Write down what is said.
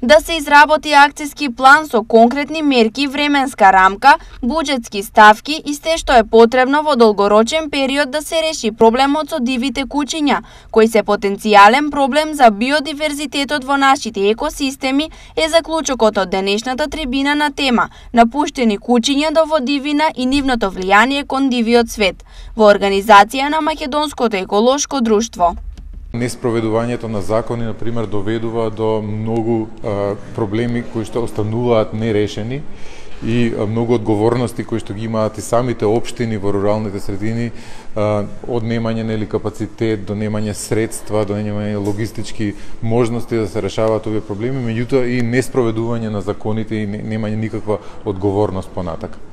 да се изработи акциски план со конкретни мерки, временска рамка, буџетски ставки и се што е потребно во долгорочен период да се реши проблемот со дивите кучиња, кои се потенцијален проблем за биодиверзитетот во нашите екосистеми, е заклучокот од денешната трибина на тема "Напуштени кучиња до водивина и нивното влијание кон дивиот свет" во организација на Македонското еколошко друштво. Неспроведувањето на закони, например, доведува до многу проблеми кои што остануваат нерешени и многу одговорности кои што ги имаат и самите општини во руралните средини, од немање нели капацитет, до немање средства, до немање логистички можности да се решаваат овие проблеми, меѓутоа и неспроведување на законите и немање никаква одговорност понатака.